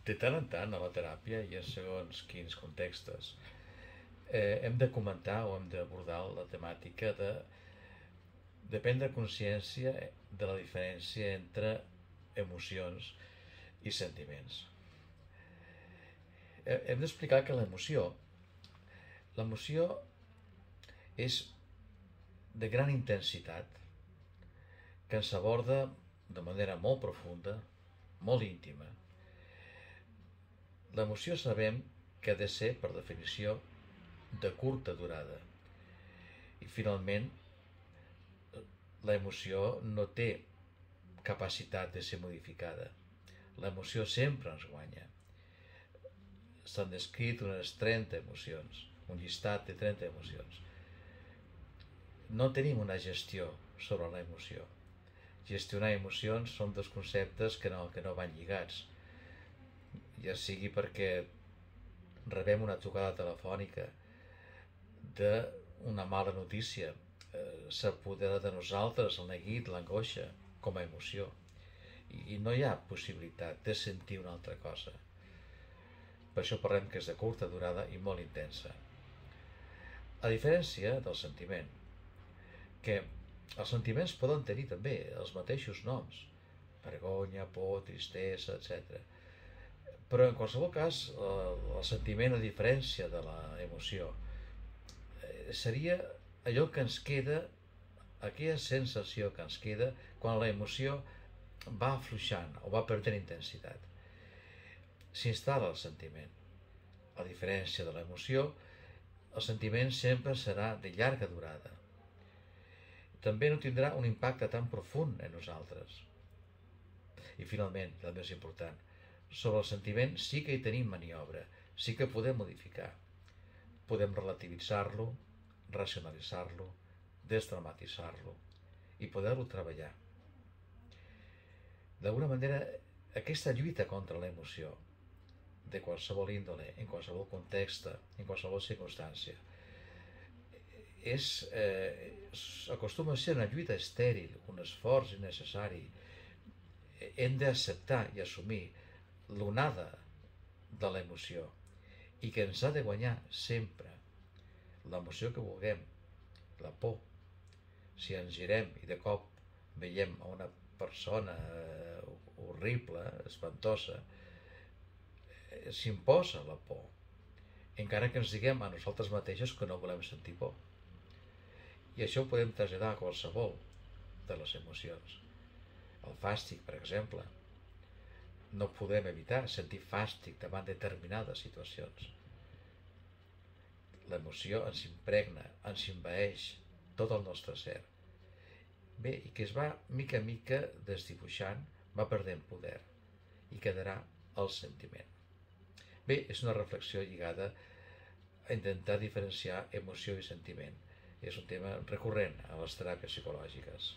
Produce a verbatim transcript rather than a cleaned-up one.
De tant en tant a la teràpia i en segons quins contextos eh, hem de comentar o hem d'abordar la temàtica de, de prendre consciència de la diferència entre emocions i sentiments. Hem d'explicar que l'emoció l'emoció és de gran intensitat, que ens aborda de manera molt profunda, molt íntima. L'emoció sabem que ha de ser, per definició, de curta durada. I finalment, l'emoció no té capacitat de ser modificada. L'emoció sempre ens guanya. S'han descrit unes trenta emocions, un llistat de trenta emocions. No tenim una gestió sobre l'emoció. Gestionar emocions són dos conceptes que no, que no van lligats. Ja sigui perquè rebem una trucada telefònica d'una mala notícia, eh, s'apodera de nosaltres el neguit, l'angoixa, com a emoció. I, I no hi ha possibilitat de sentir una altra cosa. Per això parlem que és de curta durada i molt intensa. A diferència del sentiment, que els sentiments poden tenir també els mateixos noms, vergonya, por, tristesa, etcètera. Però en qualsevol cas, el sentiment, a diferència de l'emoció, seria allò que ens queda, aquella sensació que ens queda quan l'emoció va afluixant o va perdent intensitat. S'instal·la el sentiment. A diferència de l'emoció, el sentiment sempre serà de llarga durada. També no tindrà un impacte tan profund en nosaltres. I finalment, el més important, sobre el sentiment sí que hi tenim maniobra, sí que podem modificar. Podem relativitzar-lo, racionalitzar-lo, desdramatitzar-lo i poder-lo treballar. D'alguna manera, aquesta lluita contra l'emoció, de qualsevol índole, en qualsevol context, en qualsevol circumstància, és, eh, acostuma a ser una lluita estèril, un esforç innecessari. Hem d'acceptar i assumir l'onada de l'emoció i que ens ha de guanyar sempre l'emoció que vulguem, la por. Si ens girem i de cop veiem a una persona horrible, espantosa, s'imposa la por, encara que ens diguem a nosaltres mateixos que no volem sentir por. I això ho podem traslladar a qualsevol de les emocions. El fàstic, per exemple. No podem evitar sentir fàstic davant determinades situacions. L'emoció ens impregna, ens envaeix tot el nostre ser. Bé, i que es va mica a mica desdibuixant, va perdent poder i quedarà el sentiment. Bé, és una reflexió lligada a intentar diferenciar emoció i sentiment. És un tema recurrent a les teràpies psicològiques.